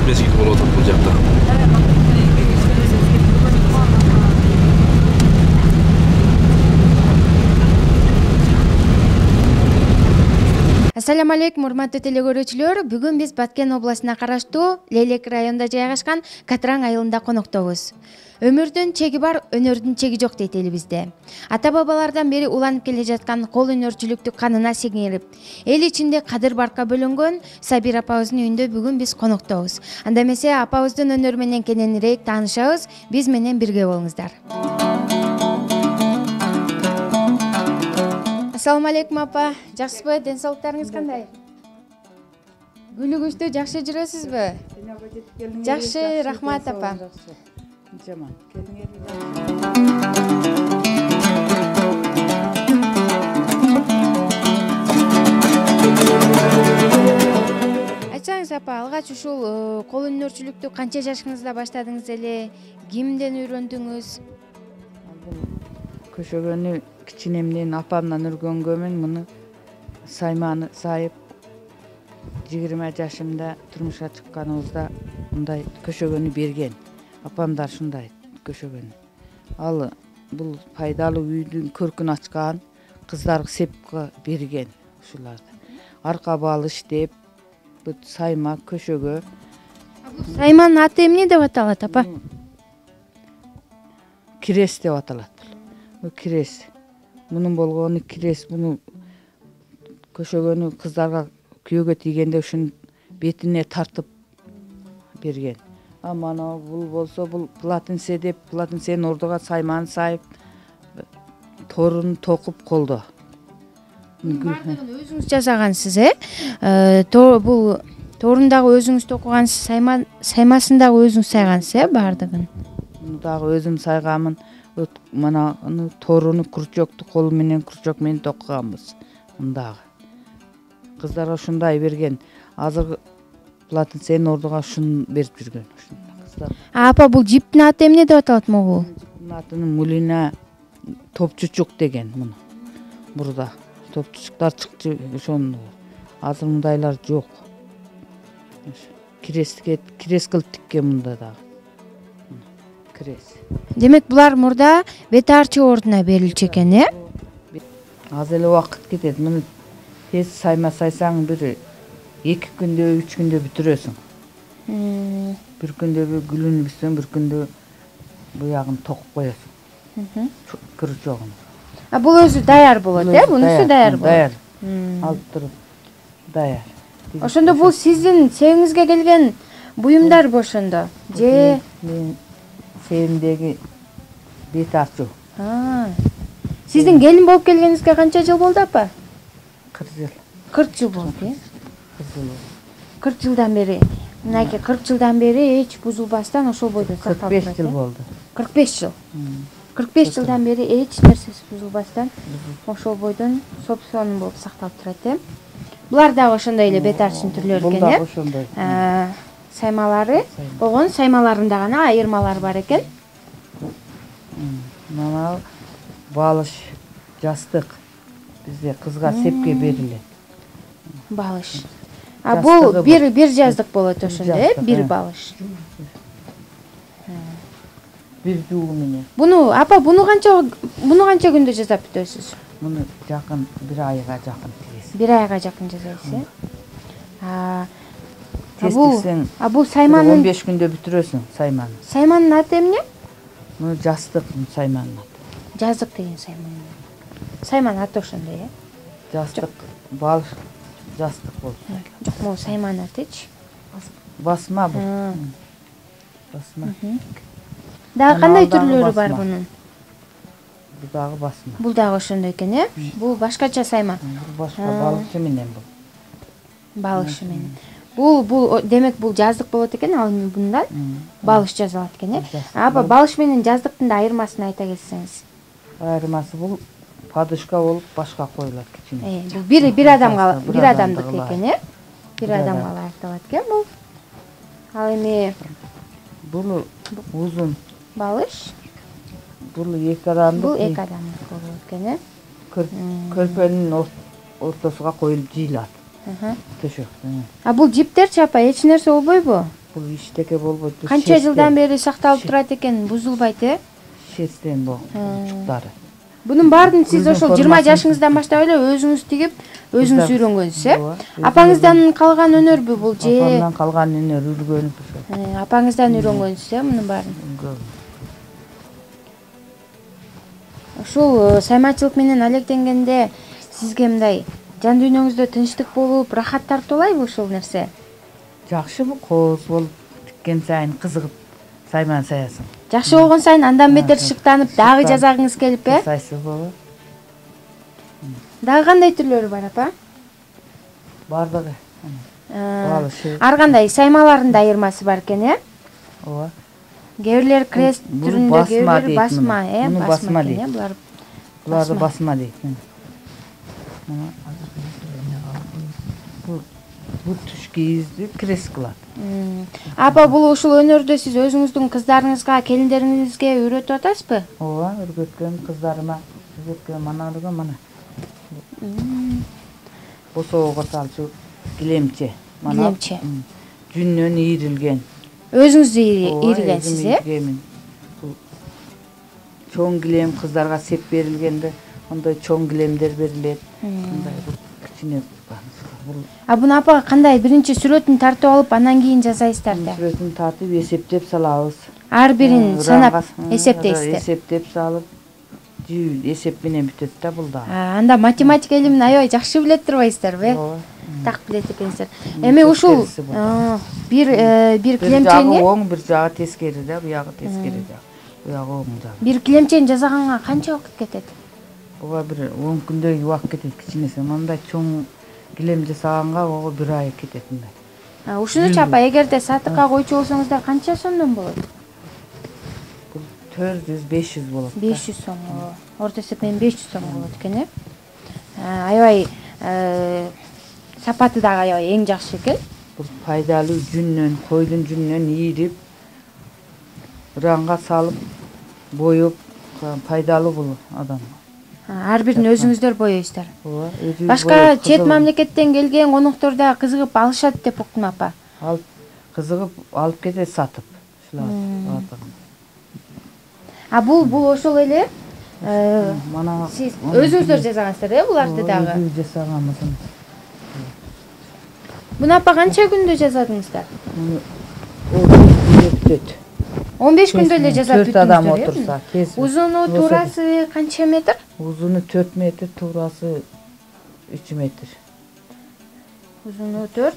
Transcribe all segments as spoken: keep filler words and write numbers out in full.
мезгил болуп атат бул жакта. Ассаламу алейкум, урматтуу теле көрүүчүлөр. Бүгүн биз Баткен областына караштуу Лейлек районунда жайгашкан Катраң айылында коноктобуз. Өмүрдүн чеги бар, өнөрдүн чеги жок дейт элибизде. Ата бабалардан бери уланып келе жаткан кол өнөрчүлүктү канына сиңирип, эл ичинде кадыр баркка бөлөнгөн Сабир апабыздын үйүндө бүгүн биз коноктобуз. Анда эмесе апабыздын өнөрү менен кененирээк таанышабыз. Биз менен бирге болуңуздар. Ассаламу алейкум апа. Жакшысызбы? Ден соолуктарыңыз кандай? Күлүгүчтүү жакшы жүрөсүзбү? Жакшы, рахмат апа. Жаман. Айтсаңыз апа, алгач ушул кол өнөрчүлүктү канча жашыңызда баштадыңыз эле? Кимден үйрөндүңүз? Көшөгөнү кичинемден апамдан өргөнгөмүн. Муну сайманы сайып жыйырма жашымда турмушка чыкканыбызда мындай көшөгөнү берген. Апамдар шундай көшөгөн. Ал бул пайдалуу үйдүн көркүн ачкан, кыздарга сепка берген ушуларды. Арка балыш деп, бут сайма, көшөгө. Сайманын аты эмне деп аталат апа? Кирес деп аталат бул. Бул кирес. Мунун болгону кирес. Муну көшөгөнү кыздарга күйөөгө тийгенде ушунун бетине тартып берген. А мана бул болсо бул платынсе деп, платынсенин ордуга сайманы сайып, торун токуп колдо. Бардыгын өзүңүз жасагансыз, э? Бул торун дагы өзүңүз токугансыз, саймасын дагы өзүңүз сайгансыз, э, бардыгын? Муну дагы өзүм сайганмын. Мана торуну крючокту колу менен крючок менен токуганбыз. Мындагы. Кыздарга ушундай берген. Азыр платынсенин ордуга ушуну берип жүргөн. Апа, бул жиптин аты эмне деп аталат могул? Мунун атын мулина топчучук деген муну. Бурда топчучуктар чыкчы ошону. Азыр мындайлар жок. Киреске, кирес кылып тиккен мында дагы. Кирес. Демек булар мурда бет арчы ордуна берилчү экен, э? Аз эле убакыт кетет. Муну тез сайма сайсаң бир эки күндө, үч күндө бүтүрөсүң. Бир күндө гүлүн бүссөң, бир күндө буягын токуп коесуң. Крючогун. А бул өзү даяр болот, э? Бунусу даяр болот. Даяр. Алып туруп даяр. Ошондо бул сиздин себиңизге келген буюмдарбы ошондо? Же мен себимдеги бет арчу. Сиздин келин болуп келгениңизге канча жыл болду апа? кырк жыл. кырк жыл болду, э? кырк жылдан бери. Мынакей кырк жылдан бери эч бузулбастан ошол бойдо сакталып кырк беш жыл болду. кырк беш жыл. кырк беш жылдан бери эч нерсеси бузулбастан ошол бойдон собственный болуп сакталып турат, э? Булар дагы ошондой эле бет арчынын түрлөрү экен, э? Бул дагы ошондой. Саймалары болгон, саймаларында гана айырмалар бар экен. Мына балыш, жастык бизде кызга сепке берилет. Балыш. А бул бир бир жаздык болот ошондо, э? Бир балыш. Бир жугу менен. Буну апа, буну канча буну канча күндө жасап бүтөсүз? Муну жакын бир айга жакын тигесиз. Бир айга жакын жасайсыз, э? А бул а бул сайманын он беш күндө бүтүрөсүң сайманы. Сайманын аты эмне? Муну жастык сайманын аты. Жаздык деген сайман. Сайманын аты ошондой, э? Жастык, балыш жастык болот. Жок, могу сайманын атычы. Басма бул. Басма. Дагы кандай түрлөрү бар бунун? Бул дагы басма. Бул дагы ошондой экен, э? Бул башкача сайман. Бул башка балышы менен бул. Балышы менен. Бул бул демек бул жаздык болот экен, ал эми мындан балыш жазалат экен, э? Апа, балыш менен жаздыктын да айырмасын айта кетсеңиз. Айырмасы бул подушка болуп башка коюлат кичине. Э, бул бир бир адамга, бир адамдык экен, э? Бир адамга ылайыкталат экен бул. Ал эми бул узун балыш. Бул эки адамдык. Бул эки адамдык болот экен, э? Көрпөнүн ортосуга коюлуп жыйылат. Төшөк. А бул жиптерчи апа эч нерсе болбойбу? бул иштеке болбойт. Канча жылдан бери сакталып турат экен, бузулбайт э? Шестен болгон чурчуктары. Бунун баарын сиз ошол жыйырма жашыңыздан баштап эле өзүңүз тигип, өзүңүз үйрөнгөнсүз э? Апаңыздан калган өнөрбү бул же? Апамдан калган өнөр үлгөнү. Апаңыздан үйрөнгөнсүз э мунун баарын? Ушул сайманчылык менен алектенгенде сизге мындай жан дүйнөңүздө тынчтык болуп, рахат тартуулайбы ушул нерсе? Жакшыбы, кооз болуп тиккен сайын кызыгып сайман саясың. Жакшы болгон сайын андан бетер шыктанып, дагы жазагыңыз келип э? Жасайсызбы? Дагы кандай түрлөрү бар, апа? Бардыгы. Ар кандай саймаларында айырмасы бар экен э? Ооба. Кээ бирлер крест түрүндө, кээ бирлери басма э? Муну басма дейт. Булар буларды басма дейт. Бул туш кийизди крест кылат. Апа, бул ушул өнөрдү сиз өзүңүздүн кыздарыңызга, келиндериңизге үйрөтүп атасызбы? Ооба, үйрөткөм кыздарыма, үйрөткөм аналарга мана. Босоого салчу килемче. Килемче. Жүннөн ийрилген. Өзүңүз ийригенсиз э? Чоң килем кыздарга сеп берилгенде, ондой чоң килемдер берилет. Мындай кичине. А буну апа кандай биринчи сүрөтүн тартып алып, анан кийин жасайсыздар да? Сүрөтүн тартып, эсептеп салабыз. Ар бирин санап эсептейсиздер. Эсептеп салып, жүйүл эсеп менен бүтөт да бул да. Анда математика илимин аябай жакшы билет турбайсыздарбы? Ооба. Так билет экенсиздер. Эми ушул бир бир килемчени оң, бир жагы тескери да, буягы тескери да. Буягы оң жагы. Бир килемчени жасаганга канча убакыт кетет? Ооба, бир он күндөй убакыт кетет кичинеси. Мындай чоң килем жасаганга ого бир ай кетет мындай. Ушунучу апа, эгерде сатыкка койчу болсоңуздар канча сомдон болот? Бул төрт жүз беш жүз болот. беш жүз сом. Орто эсеп менен беш жүз сом болот экен э? Аябай сапаты дагы аябай эң жакшы экен. Бул пайдалуу жүннөн, койдун жүнүнөн ийрип, ранга салып, боёп, пайдалуу бул адамга. Ар бирин өзүңүздөр боёйсуздар. Ооба, өзүбүз. Башка чет мамлекеттен келген конуктор да кызыгып алышат деп уктум, апа. Алып кызыгып алып кетет сатып. Ушулар. А бул бул ошол эле Мана сиз өзүңүздөр жасагансыздар э буларды дагы? Өзүбүз жасаганбыз. Буну апа канча күндө жасадыңыздар? Бүтөт. он беш күндө эле жасап бүттүңүздөр. төрт адам отурса, тез. Узуну, туурасы канча метр? Узуну төрт метр, туурасы үч метр. Узуну төрт,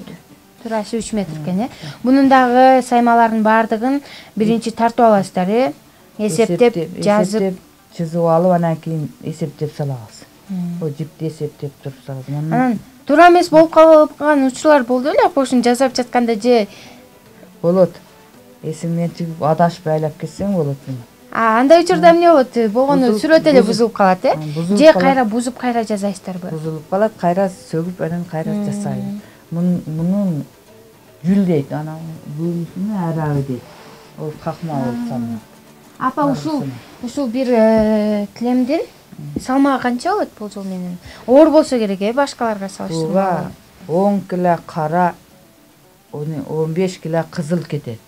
туурасы үч метр экен э? Бунун дагы саймаларынын баардыгын биринчи тартып аласыздар э? Эсептеп, жазып, чызып алып, анан кийин эсептеп салабыз. О жипти эсептеп туруп салабыз. Анан туура эмес болуп калган учурлар болду беле апа, ушуну жасап жатканда же? Болот. Эсиңден чыгып адашып айлап кетсең болот муну. А, андай учурда эмне болот? Болгону сүрөт эле бузулуп калат э? Же кайра бузуп кайра жасайсыздарбы? Бузулуп калат, кайра сөгүп, анан кайра жасайбыз. Мунун жүл дейт, анан бүүнүсүнө арабы дейт. Ол какма болуп салынат. Апа, ушул ушул бир килемдин салмагы канча болот болжол менен? Оор болсо керек э, башкаларга салыштырмалуу. он кило кара, он беш кило кызыл кетет.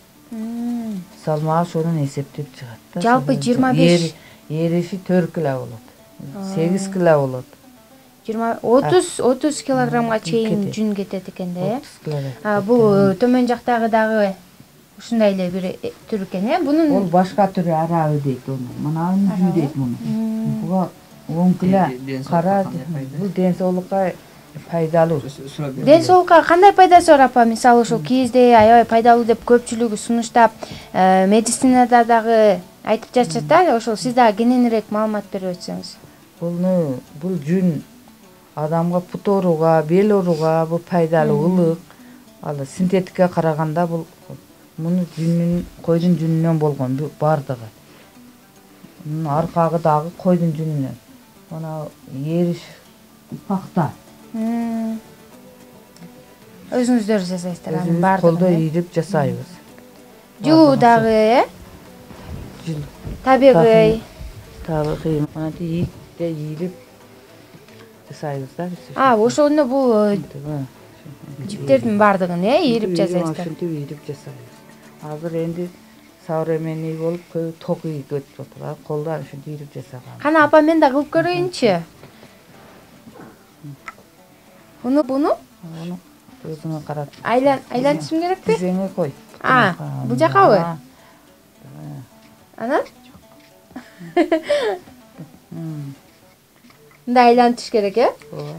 Салмагы ошонун эсептеп чыгат да. Жалпы жыйырма беш. Ериши төрт кило болот. сегиз кило болот. жыйырма отуз отуз килограммга чейин жүн кетет экен да э? Бул төмөн жактагы дагы ушундай эле бир түр экен э? Бунун Ол башка түрү арабы дейт ону. Мына жүү дейт муну. Буга он кило кара, бул ден соолукка пайдалуу. Ден соолукка кандай пайдасы бар апа? Мисалы ушул кийизде аябай пайдалуу деп көпчүлүгү сунуштап, медицинада дагы айтып жатышат да, ошол сиз дагы кененирээк маалымат берип өтсөңүз. Буну бул жүн адамга пут ооруга, бел ооруга бул пайдалуу, ылык. Ал синтетикке караганда бул муну жүнүн, койдун жүнүнөн болгон бардыгы. Мунун аркагы дагы койдун жүнүнөн. Мына ериш пакта. Өзүңүздөр жасайсыздар анын баардыгын. Колдо ийрип жасайбыз. Жулуу дагы э? Жул. Табигый. Табигый. Мына ийипте ийрип жасайбыз да. А, ошондо бул Жиптердин баардыгын э ийирип жасайсыздар. Ушинтип ийирип жасайбыз. Азыр энди современный болуп көбү ток ийип өтүп атат. Колдон ушинтип ийирип жасаган. Кана апа мен да кылып көрөйүнчү. Буну буну? Буну өзүңө карат. Айлан айлантышым керекпи? Тизеңе кой. А, бул жакабы? Анан? Мында айлантыш керек э?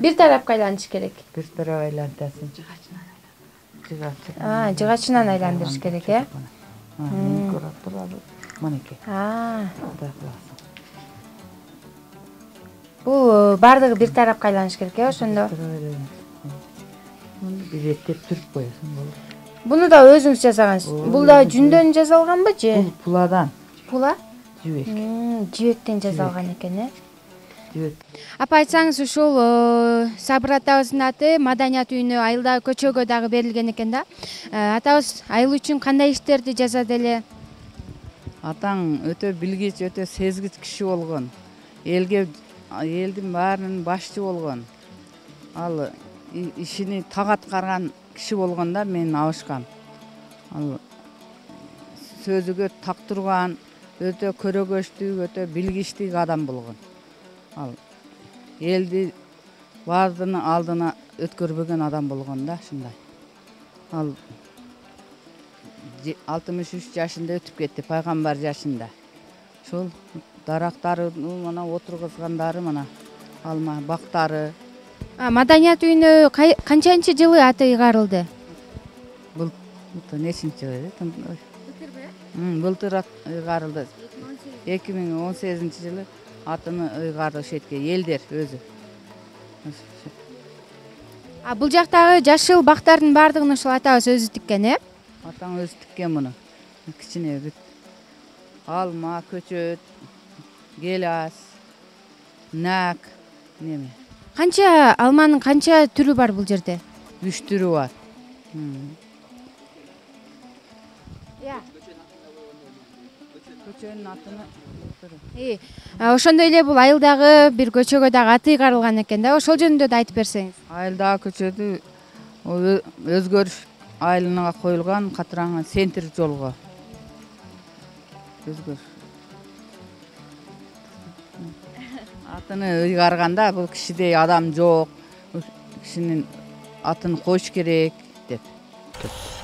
Бир тарапка айлантыш керек. Бир тарап айлантасың. Жыгачынан. А, жыгачынан айландырыш керек э? Мен көрөп турабы. Манеке. А. Мындай кыласың. Бул баардыгы бир тарапка айланыш керек э, ошондо. Муну бирептеп түрүп коесуң болду. Буну да өзүңүз жасагансыз. Бул да жүндөн жасалганбы же? Бул пуладан. Пула? Жибек. Жибектен жасалган экен э? Жибек. Апа айтсаңыз, ушул Сабыр атабыздын аты Маданият үйүнө айылдагы көчөгө дагы берилген экен да. Атабыз айыл үчүн кандай иштерди жасады эле? Атаң өтө билгич, өтө сезгич киши болгон. Элге, элдин баарынын башчы болгон. Ал ишини так аткарган киши болгондо мен абышкам. Ал сөзүгө так турган, өтө көрөгөчтүү, өтө билгичтүү адам болгон. Ал элди баардыгынын алдына өткөрбөгөн адам болгон да, ушундай. Ал алтымыш үч жашында өтүп кетти, пайгамбар жашында. Ушул дарактары мына отургузгандары мына алма бактары. А, Маданият үйүнө канчанчы жылы аты ыйгарылды? Бул нечинчи жылы? Былтыр ыйгарылды. эки миң он сегизинчи жылы атыны ыйгарды ошетке элдер өзү. А бул жактагы жашыл бактардын баардыгын ушул атабыз өзү тиккен э? Атаң өзү тиккен муну. Кичине бүт. Алма, көчөт, гелас, нак, неме. Канча алманын канча түрү бар бул жерде? Үч түрү бар. Көчөнүн атыны Э, ошондой эле бул айылдагы бир көчөгө дагы аты ыйгарылган экен да. Ошол жөнүндө да айтып берсеңиз. Айылдагы көчөдү өзгөрүш айылына коюлган катыраңы центр жолго. Өзгөрүш. Атыны ыйгарганда бул кишидей адам жок. Кишинин атын коюш керек деп.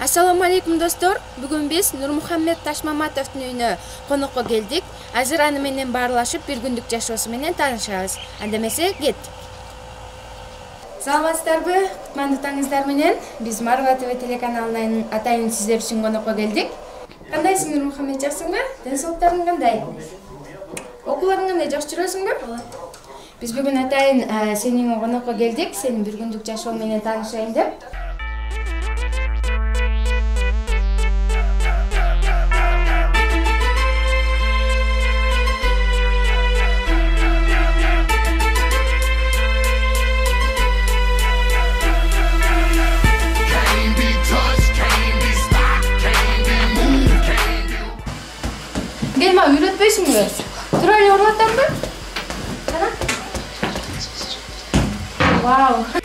Ассаламу алейкум достор. Бүгүн биз Нурмухаммед Ташмаматовдун үйүнө конокко келдик. Азыр аны менен баарлашып бир күндүк жашоосу менен таанышабыз. Анда эмесе кеттик. Саламатсыздарбы? Кутмандуу таңыңыздар менен биз Марва ТВ телеканалынын атайын сиздер үчүн конокко келдик. Кандайсың, Нурмухаммед, жаксыңбы? Ден соолуктарың кандай? Окууларың кандай, жакшы жүрөсүңбү? Биз бүгүн атайын сенин конокко келдик. Сенин бир күндүк жашоо менен таанышайын деп. Gelme, üretmeysinmi? Turar yorulatan mı? Sana? Wow.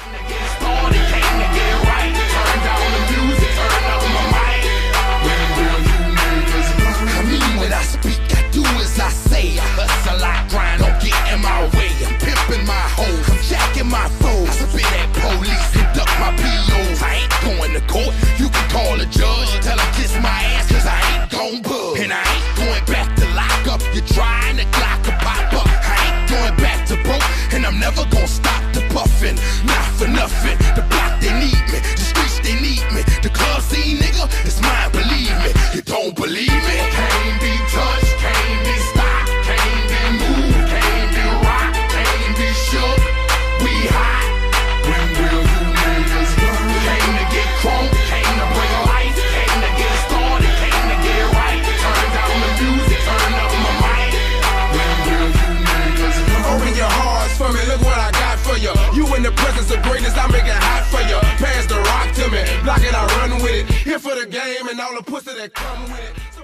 Block it, I run with it. Here for the game and all the pussy that come with it.